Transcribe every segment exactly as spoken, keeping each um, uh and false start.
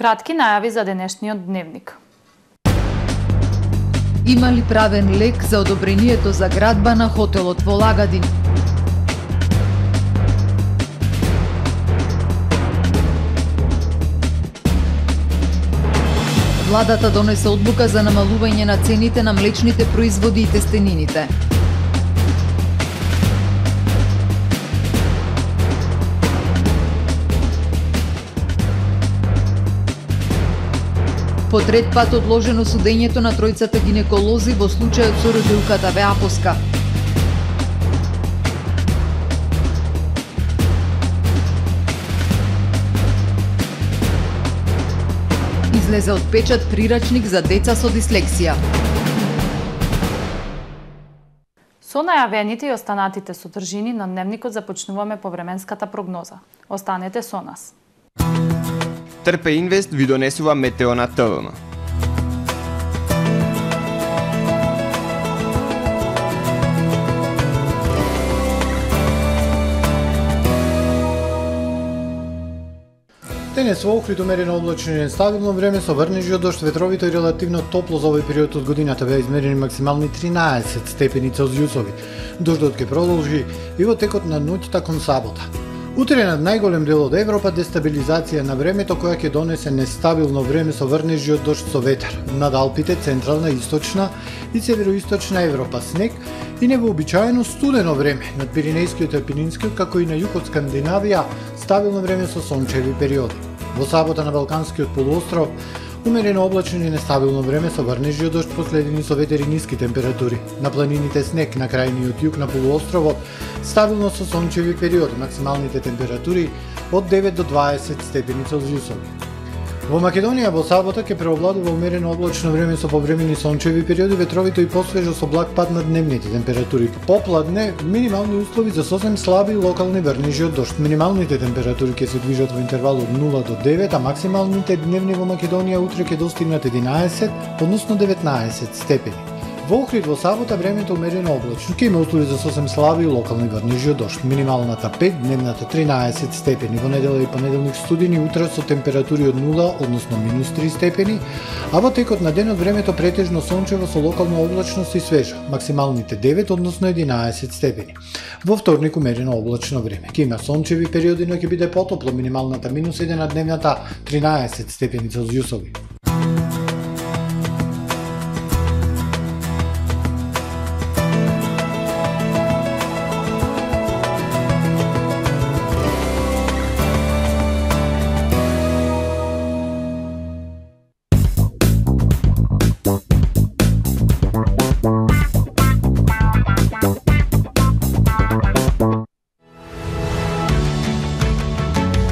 Кратки најави за денешниот дневник. Има ли правен лек за одобрението за градба на хотелот во Лагадин? Владата донесе одлука за намалување на цените на млечните производи и тестенините. По трет пат одложено судењето на тројцата гинеколози во случајот со родилката во Апоска. Излезе од печат прирачник за деца со дислексија. Со најавените и останатите содржини на дневникот започнуваме по временската прогноза. Останете со нас. Трпе Инвест ви донесува метео на ТВМ. Денес во Охрид умерено облачно и нестабилно време со врнежи од дожд, ветровито и релативно топло за овој период од годината беа измерени максимални тринаесет степени Целзиусови. Дождот ќе продолжи и во текот на ноќта кон сабота. Утре над најголем дел од Европа дестабилизација на времето која ќе донесе нестабилно време со врнежи од дожд со ветар. Над Алпите, централна, источна и североисточна Европа снег и невообичаено студено време. Над Пиринејскиот и Апенинскиот, како и на југ од Скандинавија, стабилно време со сончеви периоди. Во сабота на Балканскиот полуостров умерено облачно и нестабилно време со врнежи од дожд последени со ветер и ниски температури. На планините снег, на крајниот југ на полуостровот стабилно со сончеви периоди, максималните температури од девет до дваесет степени Целзиусови. Во Македонија во сабота ќе преовладува умерено облачно време со повремени сончеви периоди, ветровито и посвежо со благ пад на дневните температури. Попладне минимални услови за сосем слаби локални врнежи од дожд. Минималните температури ќе се движат во интервал од нула до девет, а максималните дневни во Македонија утре ќе достигнат единаесет, односно деветнаесет степени. Во Охрид во сабота времето умерено облачно, ќе има услови за сосем слаби локални врнежи од дожд. Минималната пет, дневната тринаесет степени. Во недела и понеделник студени, утре со температури од нула, односно минус три степени, а во текот на денот времето претежно сончево со локална облачност и свежо. Максималните девет, односно единаесет степени. Во вторник умерено облачно време. Ќе има сончеви периоди, но ќе биде потопло, минималната минус еден, а дневната тринаесет степени Целзиусови.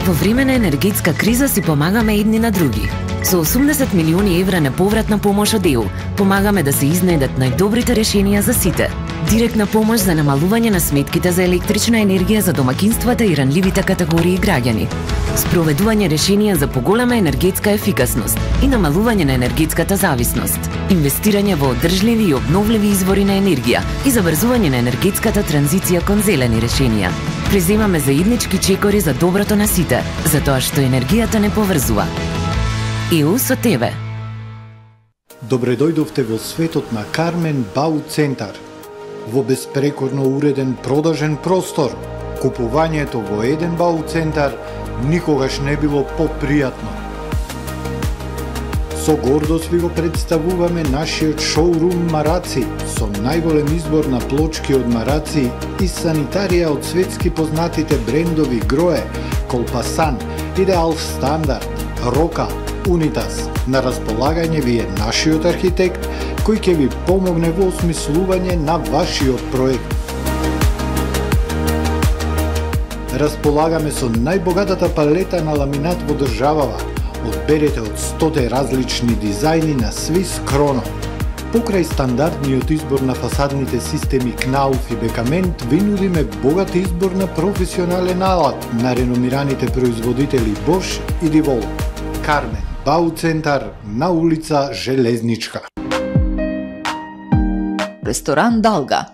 Во време на енергетска криза си помагаме едни на други. Со осумдесет милиони евра неповратна помош од Е У, помагаме да се изнајдат најдобрите решенија за сите. Директна помош за намалување на сметките за електрична енергија за домакинствата и ранливите категории граѓани. Спроведување решенија за поголема енергетска ефикасност и намалување на енергетската зависност. Инвестирање во одржливи и обновливи извори на енергија и забрзување на енергетската транзиција кон зелени решенија. Преземаме заеднички чекори за доброто на сите, затоа што енергијата не поврзува. Е У со тебе. Добре дојдовте во светот на Кармен Бау Центар. Во безпрекорно уреден продажен простор, купувањето во еден Бау Центар никогаш не било попријатно. Со гордост ви го представуваме нашиот шоурум Мараци, со најголем избор на плочки од Мараци и санитарија од светски познатите брендови Грое, Колпасан, Идеал Стандард, Рока, Унитас. На располагање ви е нашиот архитект, кој ќе ви помогне во осмислување на вашиот проект. Располагаме со најбогатата палета на ламинат во државава. Одберете од сто различни дизајни на Swiss Chrono. Покрај стандардниот избор на фасадните системи Knauf и Бекамент, ви нудиме богат избор на професионален алат на реномираните производители Bosch и Divol. Кармен Бау Центар на улица Железничка. Ресторан Далга.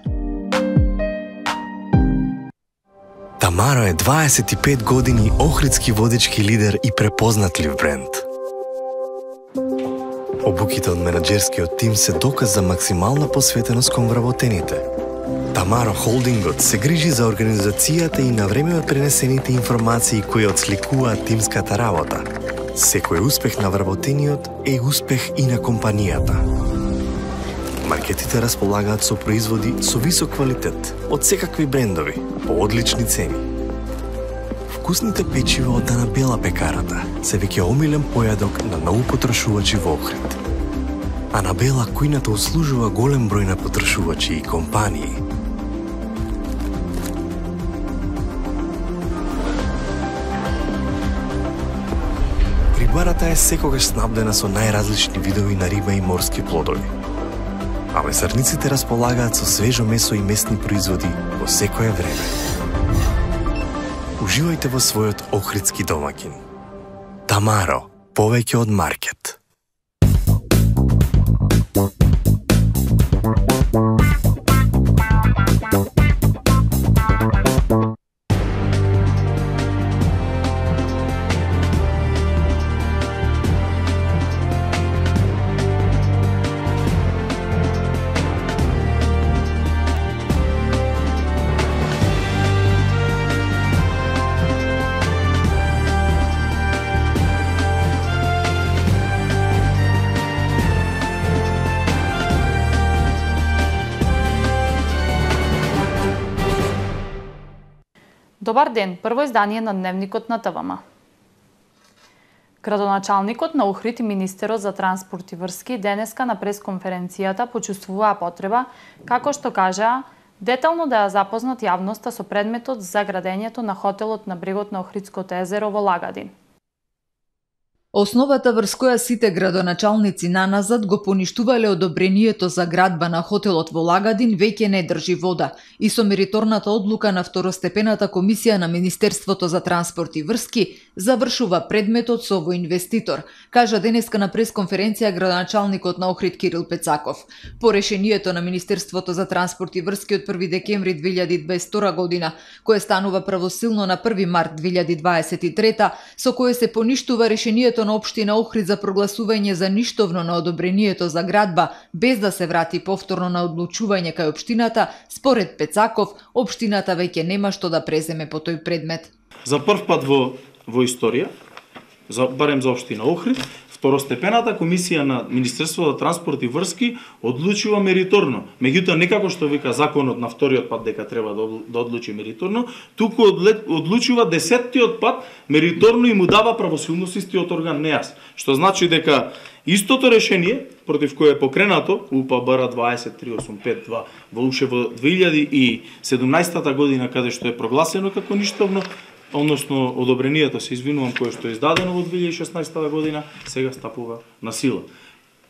Тамаро е дваесет и пет години охридски водички лидер и препознатлив бренд. Обуките од менаџерскиот тим се доказ за максимална посветеност кон вработените. Тамаро Холдингот се грижи за организацијата и на време од пренесените информации кои отсликуваат тимската работа. Секој успех на вработениот е успех и на компанијата. Маркетите располагаат со производи со висок квалитет од секакви брендови по одлични цени. Вкусните печива од Анабела пекарата се веќе омилен појадок на многу потрошувачи во Охрид. Анабела кујната услужува голем број на потрошувачи и компании. Рибарата е секогаш снабдена со најразлични видови на риба и морски плодови. А месарниците располагаат со свежо месо и месни производи во секое време. Уживајте во својот охридски домаќин. Тамаро, повеќе од маркет. Добар ден, прво издание на Дневникот на ТВМ. Градоначалникот на Охрид и министерот за транспорт и врски денеска на пресконференцијата почувствуваа потреба, како што кажаа, детално да ја запознат јавноста со предметот за градењето на хотелот на брегот на Охридското езеро во Лагадин. Основата врз која сите градоначалници наназад го поништувале одобрението за градба на хотелот во Лагадин веќе не држи вода и со мериторната одлука на второстепената комисија на Министерството за транспорт и врски завршува предметот со овој инвеститор, кажа денеска на пресконференција градоначалникот на Охрид Кирил Пецаков. По решението на Министерството за транспорт и врски од први декември две илјади дваесет и втора година, кое станува правосилно на први март две илјади дваесет и трета, со кое се поништува решението на општина Охрид за прогласување за ништовно на одобрението за градба без да се врати повторно на одлучување кај општината, според Пецаков, општината веќе нема што да преземе по тој предмет. За прв пат во во историја, за барем за општина Охрид, второстепената комисија на Министерството за транспорт и врски одлучува мериторно. Меѓутоа некако што вика законот на вториот пат дека треба да одлучи мериторно, туку одлучува десеттиот пат мериторно и му дава правосилност истиот орган НЕАС. Што значи дека истото решение против кое е покренато У П Б Р дваесет три осум пет два во уште во две илјади и седумнаесета година каде што е прогласено како ништовно, односно одобрението, се извинувам, кое што е издадено во две илјади и шеснаесета година, сега стапува на сила.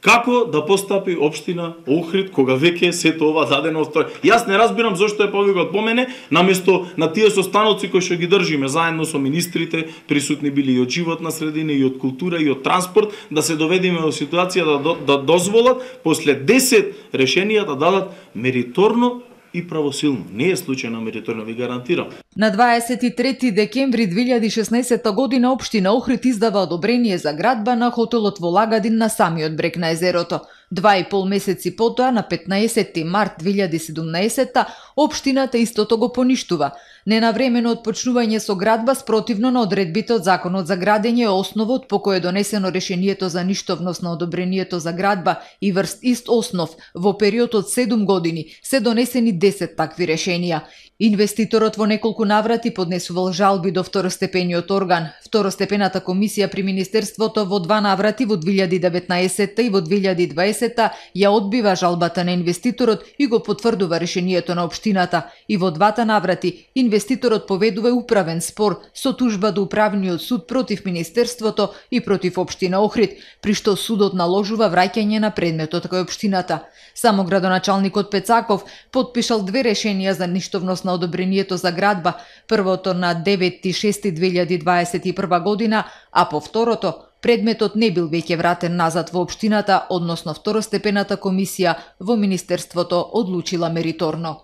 Како да постапи општина Охрид кога веќе сето ова дадено од тој? Јас не разбирам зошто е повикот по мене, наместо на тие состаноци кои што ги држиме заедно со министрите, присутни били и од животна средина, и од култура, и од транспорт, да се доведеме во ситуација да, да дозволат после десет решенија да дадат мериторно и правосилно. Не е случајно мериторно, ви гарантирам. На дваесет и трети декември две илјади и шеснаесета година општина Охрид издава одобрение за градба на хотелот во Лагадин на самиот брег на езерото. Два и пол месеци потоа, на петнаесети март две илјади и седумнаесета, општината истото го поништува. Ненавремено отпочнување со градба спротивно на одредбите од Законот за градење е основот по кој е донесено решението за ништовност на одобрението за градба и врз ист основ во период од седум години се донесени десет такви решенија. Инвеститорот во неколку наврати поднесувал жалби до второстепениот орган. Второстепената комисија при Министерството во два наврати во две илјади и деветнаесета и во две илјади и дваесета ја одбива жалбата на инвеститорот и го потврдува решението на општината. И во двата наврати инвеститорот поведува управен спор со тужба до управниот суд против Министерството и против општина Охрид, при што судот наложува враќање на предметот кај општината. Само градоначалникот Пецаков потпишал две решенија за ништовност на одобрението за градба, првото на девети јуни две илјади дваесет и прва година, а по второто предметот не бил веќе вратен назад во општината, односно второстепената комисија во Министерството одлучила мериторно.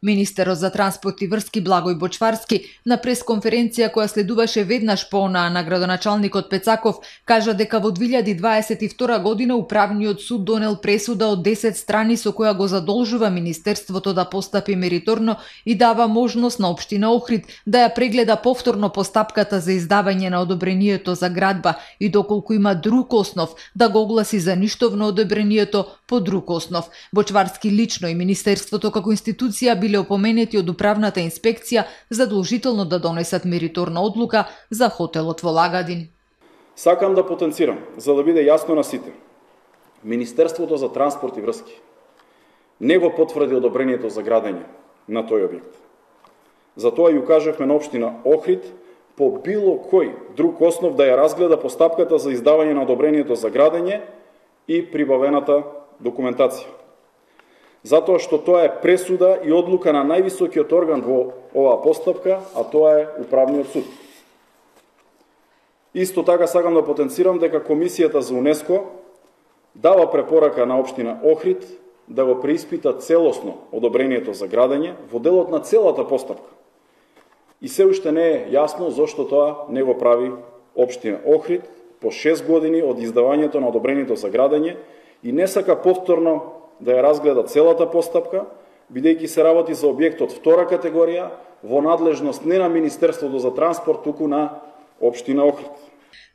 Министерот за транспорт и врски Благој Бочварски на пресконференција која следуваше веднаш по онаа на градоначалникот Пецаков кажа дека во две илјади дваесет и втора година Управниот суд донел пресуда од десет страни со која го задолжува Министерството да постапи мериторно и дава можност на општина Охрид да ја прегледа повторно постапката за издавање на одобрението за градба и доколку има друг основ да го огласи за ништовно одобрението по друг основ. Бочварски лично и Министерството како институција биле опоменети од управната инспекција задолжително да донесат мериторна одлука за хотелот во Лагадин. Сакам да потенцирам, за да биде јасно на сите. Министерството за транспорт и врски не го потврди одобрението за градење на тој објект. Затоа ја кажавме на општина Охрид по било кој друг основ да ја разгледа постапката за издавање на одобрението за градење и прибавената документација. Затоа што тоа е пресуда и одлука на највисокиот орган во оваа постапка, а тоа е Управниот суд. Исто така сакам да потенцирам дека Комисијата за УНЕСКО дава препорака на општина Охрид да го преиспита целосно одобрението за градење во делот на целата постапка. И се уште не е јасно зошто тоа не го прави општина Охрид по шест години од издавањето на одобрението за градење и не сака повторно да ја разгледа целата постапка, бидејќи се работи за објект од втора категорија во надлежност не на Министерството за транспорт, туку на општина Охрид.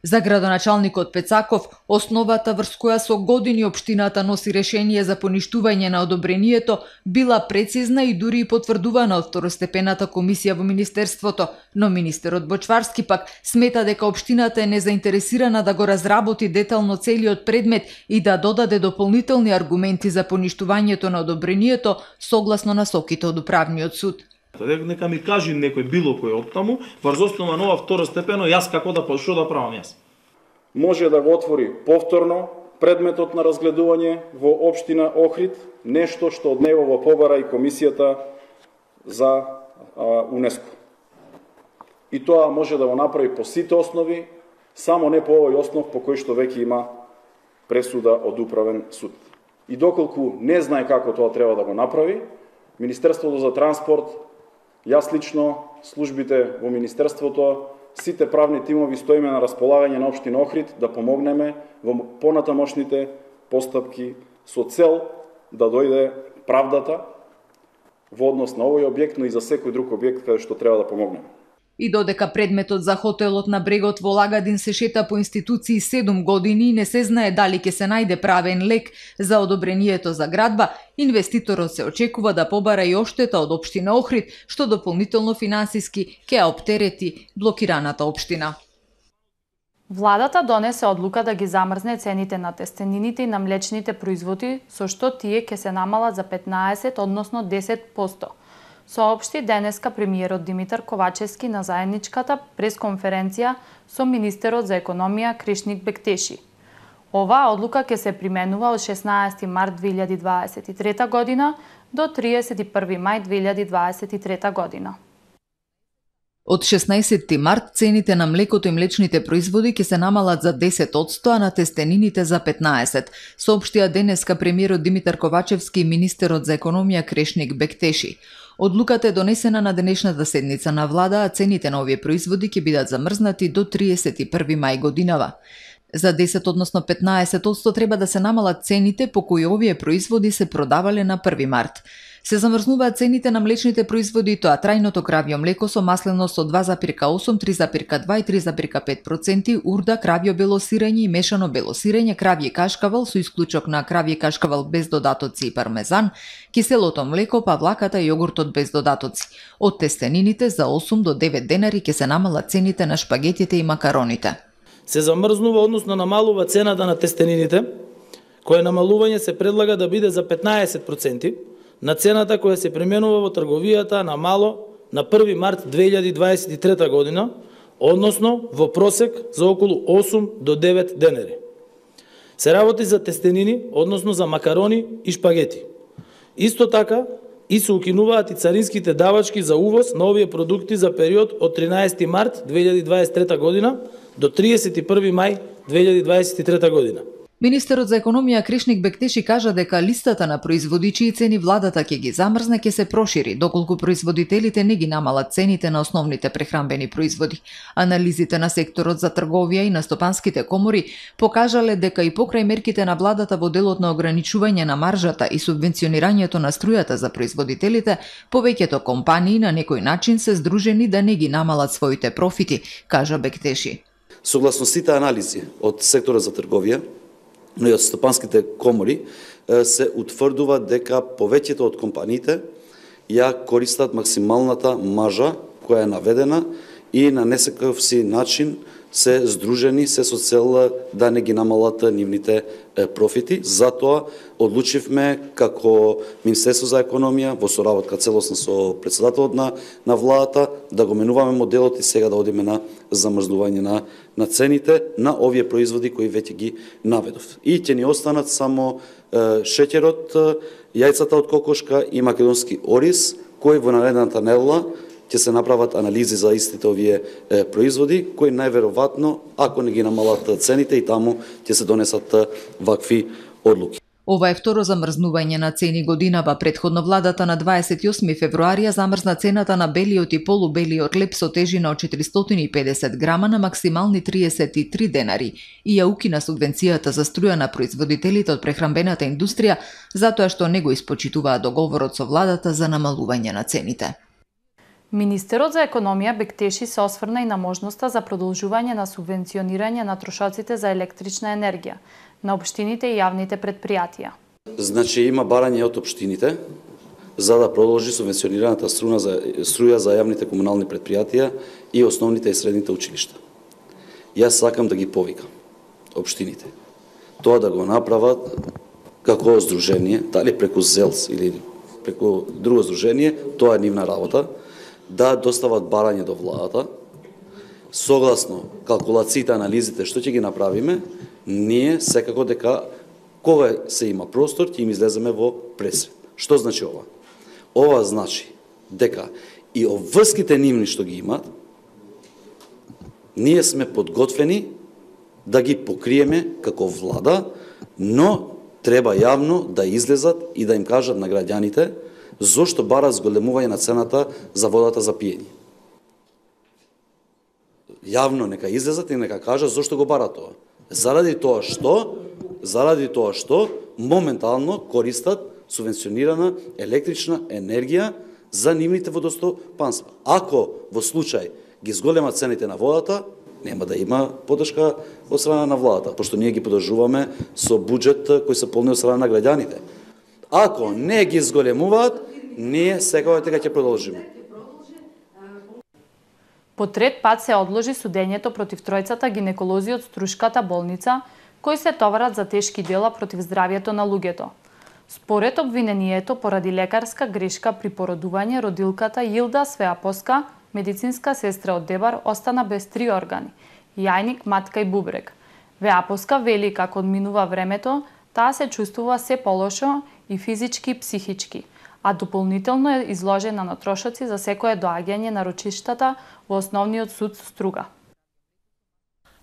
За градоначалникот Пецаков, основата врз која со години општината носи решение за поништување на одобрението била прецизна и дури и потврдувана од второстепената комисија во Министерството, но министерот Бочварски пак смета дека општината е незаинтересирана да го разработи детално целиот предмет и да додаде дополнителни аргументи за поништувањето на одобрението согласно насоките од Управниот суд. Нека ми кажи некој било кој од таму, врз основа на ова второстепено, јас како да што да правам јас. Може да го отвори повторно предметот на разгледување во општина Охрид, нешто што од него го побара и Комисијата за а, УНЕСКО. И тоа може да го направи по сите основи, само не по овој основ по кој што веќе има пресуда од Управен суд. И доколку не знае како тоа треба да го направи, Министерството за транспорт, јас лично, службите во Министерството, сите правни тимови стоиме на располагање на општина Охрид да помогнеме во понатамошните постапки со цел да дојде правдата во однос на овој објект, но и за секој друг објект каде што треба да помогнеме. И додека предметот за хотелот на брегот во Лагадин се шета по институции седум години и не се знае дали ќе се најде правен лек за одобрението за градба, инвеститорот се очекува да побара и оштета од општина Охрид, што дополнително финансиски ќе оптерети блокираната општина. Владата донесе одлука да ги замрзне цените на тестенините и на млечните производи, со што тие ќе се намалат за петнаесет, односно десет проценти. Соопшти денеска премиерот Димитар Ковачевски на заедничката пресконференција со министерот за економија Кришник Бектеши. Оваа одлука ќе се применува од шеснаесети март две илјади дваесет и трета година до триесет и први мај две илјади дваесет и трета година. Од шеснаесети март цените на млекото и млечните производи ќе се намалат за десет одсто, а на тестенините за петнаесет, соопштија денеска премиерот Димитар Ковачевски и министерот за економија Кришник Бектеши. Одлуката е донесена на денешната седница на влада, а цените на овие производи ќе бидат замрзнати до триесет и први мај годинава. За десет, односно петнаесет одсто треба да се намалат цените по кои овие производи се продавале на први март. Се замрзнуваат цените на млечните производи, тоа трајното кравјо млеко со маслено со два зарез осум, три зарез два и три зарез пет проценти, урда, кравјо бело сирење и мешано бело сирење, кравје кашкавал со исклучок на кравје кашкавал без додатоци и пармезан, киселото млеко, павлаката и јогуртот без додатоци. Од тестенините за осум до девет денари ќе се намалат цените на шпагетите и макароните. Се замрзнува, односно намалува цената на тестенините, кое намалување се предлага да биде за петнаесет проценти, на цената која се применува во трговијата на мало на први март две илјади дваесет и трета година, односно во просек за околу осум до девет денари. Се работи за тестенини, односно за макарони и шпагети. Исто така и се укинуваат и царинските давачки за увоз на овие продукти за период од тринаесети март две илјади дваесет и трета година до триесет и први мај две илјади дваесет и трета година. Министерот за економија Кришник Бектеши кажа дека листата на производичи и цени владата ќе ги замрзне, ќе се прошири, доколку производителите не ги намалат цените на основните прехранбени производи. Анализите на секторот за трговија и на стопанските комори покажале дека и покрај мерките на владата во делот на ограничување на маржата и субвенционирањето на струјата за производителите, повеќето компании на некој начин се здружени да не ги намалат своите профити, кажа Бектеши. Согласно сите анализи од секторот за трговија, но и од стопанските комори, се утврдува дека повеќето од компаниите ја користат максималната маржа која е наведена и на несекаков си начин се здружени се со цел да не ги намалат нивните профити. Затоа одлучивме како Министерство за економија во соработка целосно со председателот на на владата да го менуваме моделот и сега да одиме на замрзнување на на цените на овие производи кои веќе ги наведов. И ќе ни останат само е, шеќерот, јајцата од кокошка и македонски ориз, кои во наредната недела ќе се направат анализи за истите овие е, производи, кои најверојатно, ако не ги намалат цените, и таму ќе се донесат вакви одлуки. Ова е второ замрзнување на цени годинава. Претходно владата на дваесет и осми февруари ја замрзна цената на белиот и полубелиот леб со тежина од четиристотини и педесет грама на максимални триесет и три денари и ја укина субвенцијата за струја на производителите од прехранбената индустрија затоа што не го испочитуваа договорот со владата за намалување на цените. Министерот за економија Бектеши се осврна и на можноста за продолжување на субвенционирање на трошоците за електрична енергија на општините и јавните предпријатија. Значи има барање од општините за да продолжи субвенционираната струја за струја за јавните комунални предпријатија и основните и средните училишта. Јас сакам да ги повикам општините тоа да го направат како здружение, дали преку ЗЕЛС или преку друго здружение, тоа е нивна работа, да достават барање до владата, согласно калкулациите, анализите што ќе ги направиме, ние секако дека кога се има простор, ќе им излеземе во пресред. Што значи ова? Ова значи дека и обврските нивни што ги имат, ние сме подготвени да ги покриеме како влада, но треба јавно да излезат и да им кажат на граѓаните зошто барат зголемување на цената за водата за пиење. Јавно нека излезат и нека кажат зошто го барат тоа. Заради тоа што, заради тоа што моментално користат субвенционирана електрична енергија за нивните водостопанства. Ако во случај ги зголемат цените на водата, нема да има поддршка од страна на владата, пошто ние ги поддржуваме со буџет кој се полни од страна на граѓаните. Ако не ги зголемуваат, ние секако дека ќе продолжиме. По трет пат се одложи судењето против тројцата гинеколози од Струшката болница, кои се товарат за тешки дела против здравјето на луѓето. Според обвинението, поради лекарска грешка при породување, родилката Јилда Свеапоска, медицинска сестра од Дебар, остана без три органи – јајник, матка и бубрек. Веапоска вели како одминува времето, таа се чувствува се полошо и физички и психички, а дополнително е изложена на трошоци за секое доаѓање на рочиштата во Основниот суд Струга.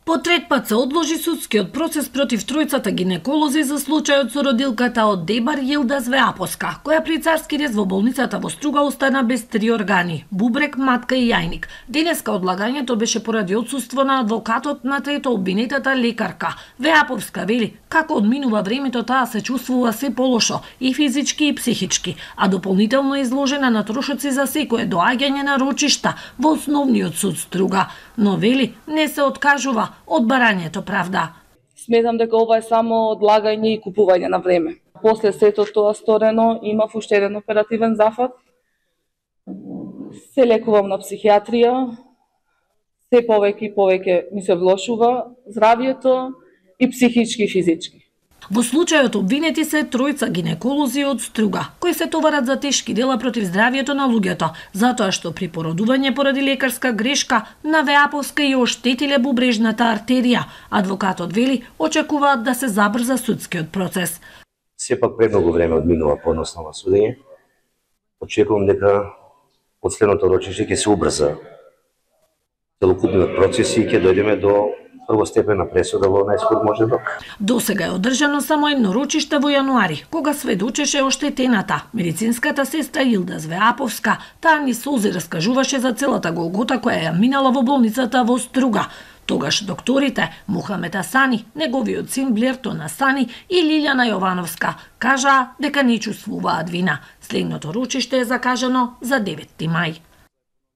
По трет пат се одложи судскиот процес против тројцата гинеколози за случајот со родилката од Дебар Јилда Свеапоска, која при царски рез во болницата во Струга остана без три органи – бубрек, матка и јајник. Денеска одлагањето беше поради отсуство на адвокатот на трето обвинетата лекарка. Веаповска вели како одминува времето, таа се чувствува се полошо и физички и психички, а дополнително изложена на трошоци за секое доаѓање на рочишта во Основниот суд Струга. Но вели не се откажува од барањето правда. Сметам дека ова е само одлагање и купување на време. После сето тоа сторено, имав уште еден оперативен зафат. Се лекувам на психијатрија, се повеќе и повеќе ми се влошува здравјето и психички и физички. Во случајот обвинети се тројца гинеколози од Струга, кои се товарат за тешки дела против здравјето на луѓето, затоа што при породување поради лекарска грешка на Веаповска и оштетиле бубрежната артерија. Адвокатот вели очекуваат да се забрза судскиот процес. Сепак премногу време одминува подносно на судење. Очекувам дека последното рочиште ќе се убрза целокупниот процес и ќе дојдеме до првостепена пресуда во најскор можен рок. Досега е одржано само едно рочиште во јануари, кога сведочеше оштетената, медицинската сестра Илда Звеаповска. Таа ни солзи раскажуваше за целата голгота која ја минала во болницата во Струга. Тогаш докторите Мухамед Асани, неговиот син Блертон Асани и Лилјана Јовановска кажаа дека не чувствуваат вина. Следното рочиште е закажано за деветти мај.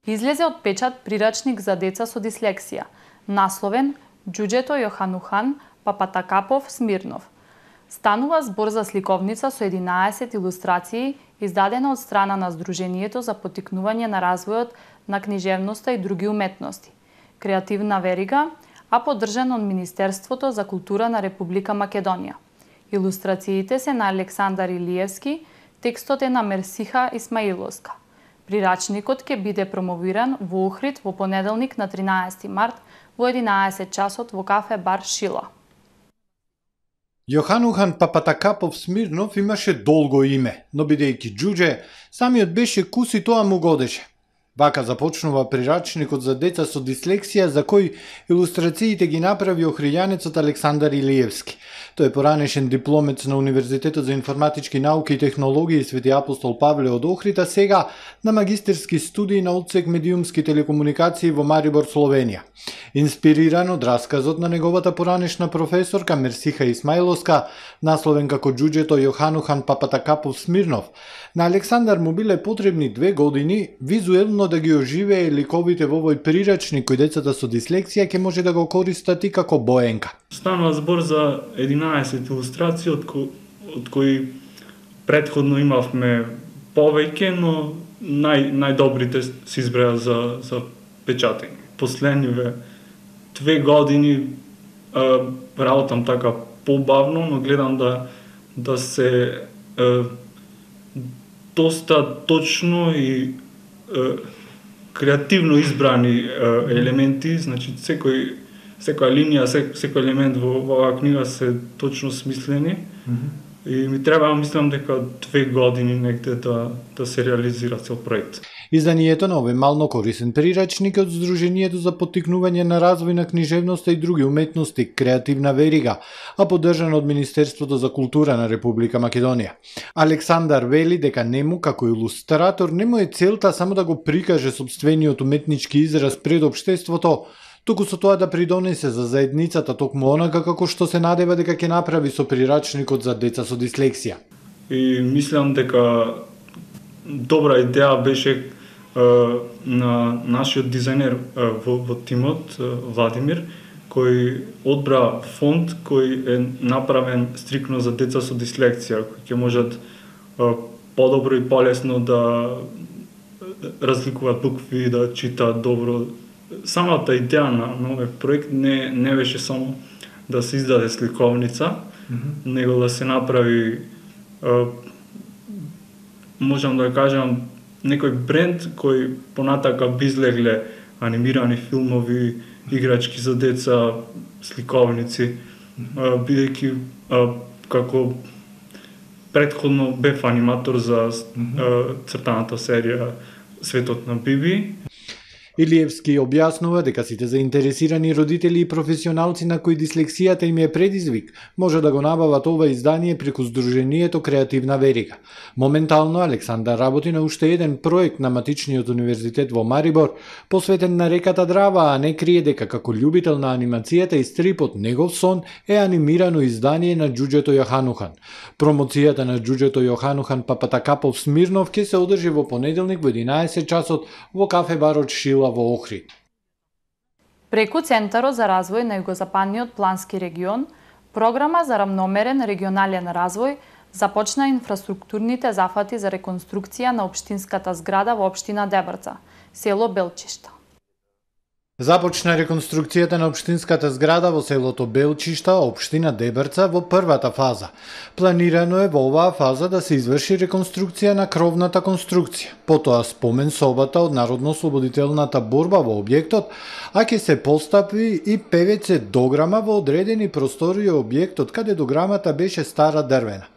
Излезе од печат прирачник за деца со дислексија, насловен Џуџето Јоханухан Папатакапов Смирнов. Станува збор за сликовница со единаесет илустрации, издадена од страна на Сдруженијето за поттикнување на развојот на книжевноста и други уметности, Креативна верига, а поддржан од Министерството за култура на Република Македонија. Илустрациите се на Александар Илиевски, текстот е на Мерсиха Исмаиловска. Прирачникот ќе биде промовиран во Охрид во понеделник на тринаесети март во единаесет часот во кафе бар Шила. Јоханухан Папатакапов Смирнов имаше долго име, но бидејќи џуџе, самиот беше кус и тоа му годеше. Вака започнува прирачникот за деца со дислексија за кој илустрациите ги направи охријанецот Александар Илиевски. Тој е поранешен дипломец на Универзитетот за информатички науки и технологии Свети Апостол Павле од Охрид, а сега на магистерски студии на одсек медиумски телекомуникации во Марибор, Словенија. Инспириран од расказот на неговата поранешна професорка Мерсиха Исмаиловска, насловен како Џуџето Јоханухан Папатакапов Смирнов, на Александар му биле потребни две години визуелно да ги оживее ликовите во овој прирачник кој децата со дислексија ќе може да го користат и како боенка. Станува збор за единаесет илустрации, од, ко, од кои предходно имавме повеќе, но нај, најдобрите се избреа за, за печатење. Последниве две години а, работам така побавно, но гледам да, да се а, доста точно и а, креативно избрани а, елементи, значи секој секоја линија, сек, секој елемент во, во оваа книга се точно смислени. Mm-hmm. И ми треба, мислам дека две години негде да, да се реализира цел проект. Изданието на овој мално корисен прирачник од Сдруженијето за поттикнување на развој на книжевноста и други уметности Креативна верига, а поддржан од Министерството за култура на Република Македонија. Александар вели дека нему како илустратор нему е целта само да го прикаже сопствениот уметнички израз пред општеството, туку со тоа да придонесе за заедницата токму онака како што се надева дека ќе направи со прирачникот за деца со дислексија. И мислам дека добра идеја беше е, на нашиот дизајнер е, во, во тимот, е, Владимир, кој одбра фонд кој е направен стрикно за деца со дислексија, кои ќе можат е, подобро и полесно да разликуваат букви, да читаат добро. Самата идеја на новиот проект не, не беше само да се издаде сликовница, mm-hmm. него да се направи, е, можам да кажам, некој бренд кој понатака би излегле анимирани филмови, играчки за деца, сликовници, mm-hmm. бидејќи како предходно бев аниматор за mm-hmm. цртаната серија Светот на Биби. Илиевски објаснува дека сите заинтересирани родители и професионалци на кои дислексијата им е предизвик, може да го набават ова издание преку Сдруженијето Креативна верига. Моментално Александар работи на уште еден проект на Матичниот универзитет во Марибор, посветен на реката Драва, а не крие дека како љубител на анимацијата и стрипот негов сон е анимирано издание на Џуџето Јоханухан. Промоцијата на Џуџето Јоханухан Папатакапов Смирнов ќе се одржи во понеделник во единаесет часот во кафе барот Шила во Охрид. Преку Центарот за развој на југозападниот плански регион, програма за рамномерен регионален развој започна инфраструктурните зафати за реконструкција на општинската зграда во општина Дебрца, село Белчишта. Започна реконструкцијата на општинската зграда во селото Белчишта, општина Дебрца, во првата фаза. Планирано е во оваа фаза да се изврши реконструкција на кровната конструкција, потоа спомен собата од народно-ослободителната борба во објектот, а ќе се постави и певеце дограма во одредени простории објектот каде дограмата беше стара дрвена.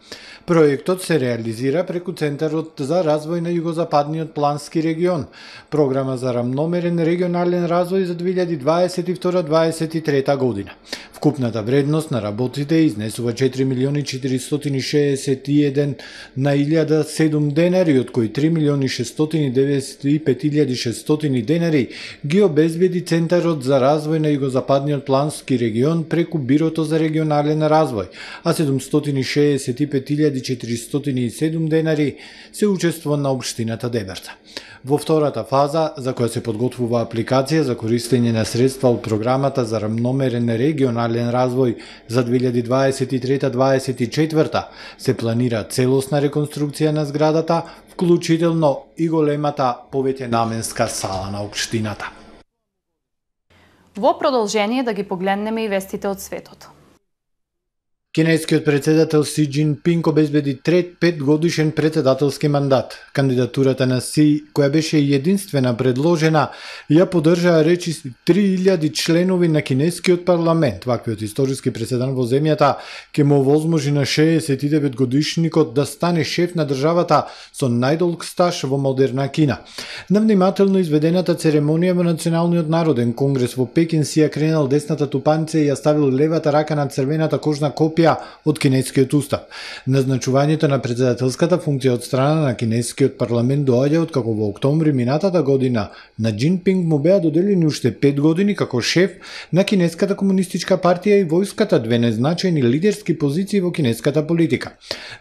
Проектот се реализира преку Центарот за развој на југозападниот плански регион, програма за рамномерен регионален развој за две илјади дваесет и втора - дваесет и трета година. Вкупната вредност на работите изнесува четири милиони четиристотини шеесет и еден на илјада седум денари, од кои три милиони шестстотини деветдесет и пет илјади шестстотини денари ги обезбеди Центарот за развој на југозападниот плански регион преку Бирото за регионален развој, а седумстотини шеесет и пет илјади четиристотини и седум денари се учество на општината Дебарца. Во втората фаза, за која се подготвува апликација за користење на средства од програмата за рамномерен регионален развој за две илјади дваесет и трета - дваесет и четврта, се планира целосна реконструкција на зградата, вклучително и големата повеќенаменска сала на општината. Во продолжение да ги погледнеме и вестите од светот. Кинескиот председател Си Џинпинг обезбеди трет петгодишен председателски мандат. Кандидатурата на Си, која беше единствена предложена, ја поддржаа речиси три илјади членови на кинескиот парламент. Ваквиот историски преседан во земјата ќе му овозможи на шеесет и девет годишникот да стане шеф на државата со најдолг стаж во модерна Кина. На внимателно изведената церемонија во Националниот народен конгрес во Пекин Си ја кренал десната тупаница и ја ставил левата рака на црвената кожна копија од кинескиот устав. Назначувањето на председателската функција од страна на кинескиот парламент доаѓа откако во октомври минатата година на Џинпинг му беа доделени уште пет години како шеф на Кинеската комунистичка партија и војската, две незначајни лидерски позиции во кинеската политика.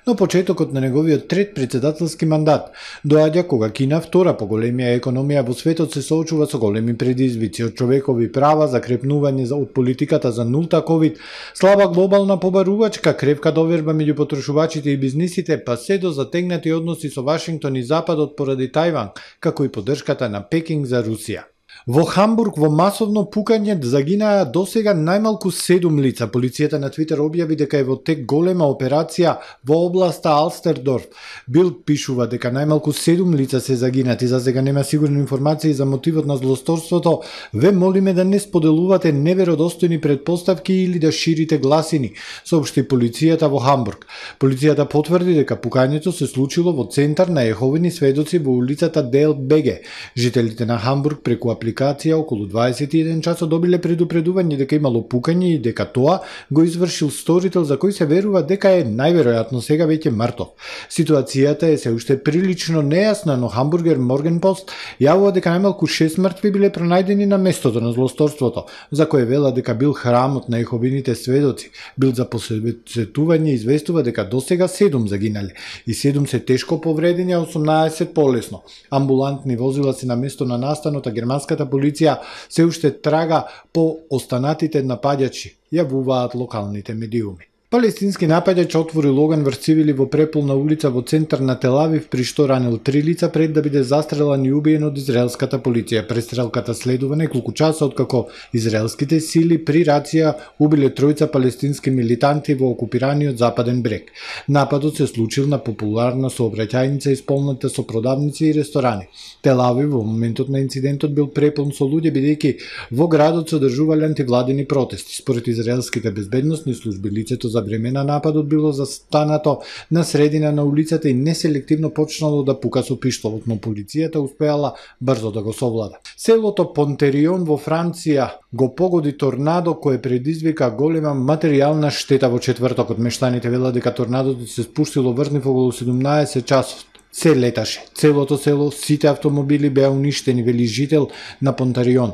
Но почетокот на неговиот трет председателски мандат доаѓа кога Кина, втора по големија економија во светот, се соочува со големи предизвици од човекови права, закрепнување од политиката за нулта ковид, слаба глобална побарувања, кревка доверба меѓу потрошувачите и бизнисите, па се до затегнати односи со Вашингтон и Западот поради Тајван, како и поддршката на Пекинг за Русија. Во Хамбург во масовно пукање загинаа досега најмалку седум лица. Полицијата на Твитер објави дека е во тек голема операција во областа Алстердорф. Билд пишува дека најмалку седум лица се загинати. За сега нема сигурни информации за мотивот на злосторството. Ве молиме да не споделувате неверодостојни претпоставки или да ширите гласини, соопшти полицијата во Хамбург. Полицијата потврди дека пукањето се случило во центар на Јеховини сведоци во улицата Дел Беге. Жителите на Хамбург преку апликација околу дваесет и еден часот добиле предупредување дека имало пукање и дека тоа го извршил сторител за кој се верува дека е најверојатно сега веќе мртов. Ситуацијата е се уште прилично нејасна, но Хамбургер Моргенпост јавува дека најмалку шест мртви биле пронајдени на местото на злосторството, за кое вела дека бил храмот на Јеховините сведоци. Бил за посетување известува дека досега седум загинале и седум се тешко повредени, а осумнаесет полесно. Амбулантни возила се на место на настанот, а германската полиција се уште трага по останатите напаѓачи, јавуваат локалните медиуми. Палестински напаѓач отворил оган врз цивили во преполна улица во центар на Тел Авив, при што ранил три лица пред да биде застрелан и убиен од израелската полиција. Престрелката следува неколку часа откако израелските сили при рација убиле тројца палестински милитанти во окупираниот западен брег. Нападот се случил на популарна сообраќајница исполната со продавници и ресторани. Тел Авив во моментот на инцидентот бил преполн со луѓе, бидејќи во градот се одржувале антивладини протести. Според израелските безбедносни служби, лицето за време на нападот било застанато на средина на улицата и неселективно почнало да пука со пиштолот, но полицијата успеала брзо да го совлада. Селото Понтерион во Франција го погоди торнадо кое предизвика голема материјална штета во четвртокот. Мештаните велат дека торнадото се спуштило врз нив околу седумнаесет часот. Се леташе. Целото село, сите автомобили беа уништени, вели жител на Понтарион.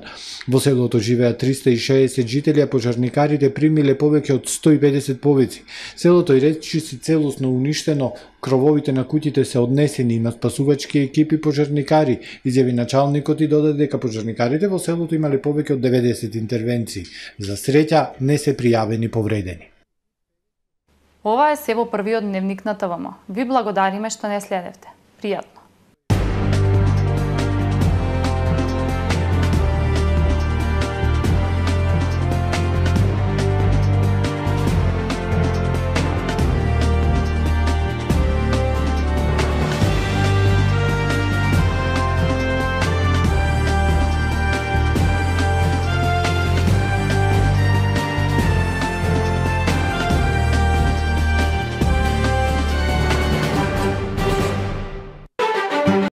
Во селото живеа триста и шеесет жители, а пожарникарите примиле повеќе од сто и педесет повици. Селото и речиси целосно уништено, крововите на куќите се однесени, има спасувачки екипи пожарникари, изјави началникот и додаде дека пожарникарите во селото имале повеќе од деветдесет интервенции. За среќа не се пријавени повредени. Ова е се во првиот дневник на ТВМ. Ви благодариме што не следевте. Пријатно.